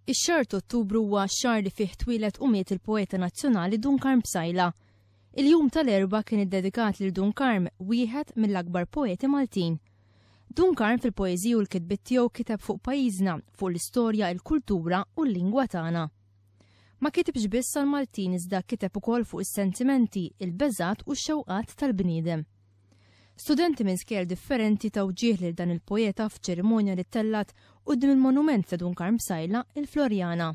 Ix-xahar t'Ottubru huwa x-xahar li fih twieled u miet il-poeta nazzjonali Dun Karm Psaila. Il-jum tal-Erbgħa kien iddedikat lil Dun Karm, wieħed mill-akbar poeti Maltin. Dun Karm fil-poeżiji u l-kitbiet tiegħu kiteb fuq pajjiżna, fuq l-istorja, il-kultura u l-lingwa tagħna. Ma kitibx biss għall-Maltin iżda kiteb ukoll fuq is-sentimenti, il-beżgħat u x-xewqat tal-bniedem. Studenti minn skejjel differenti taw ġieħ lil dan il-poeta f'ċerimonja li ttellgħet quddiem il-monument ta' Dun Karm Psaila, il-Floriana.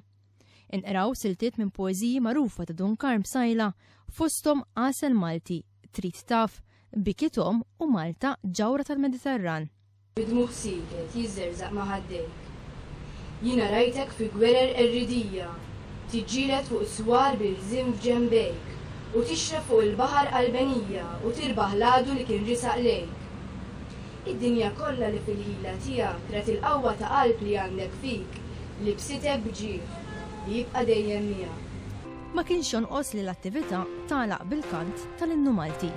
Inqraw siltiet minn poeżiji magħrufa ta' Dun Karm Psaila fosthom Għasel Malti, Trid Taf, Biki Tom u Malta Ġawhra tal-Mediterran. Bid-dmugħ sieket jiżżerżaq ma' ħaddejk. Jiena rajtek fi gwerer qerridija, tiġġieled fuq is-swar bi rżien f'ġenbejk, u tixref fuq il-baħar qalbenija u tirbaħ l-għadu li kien risaq lejk. Id-dinja kollha li fil-ħila tiegħek rat il-qawwa ta' qalb li għandek fik, libsitek b'ġieħ li jibqa' dejjem miegħek. Ma kienx jonqos li l-attività tagħlaq bil-kant tal-Innu Malti.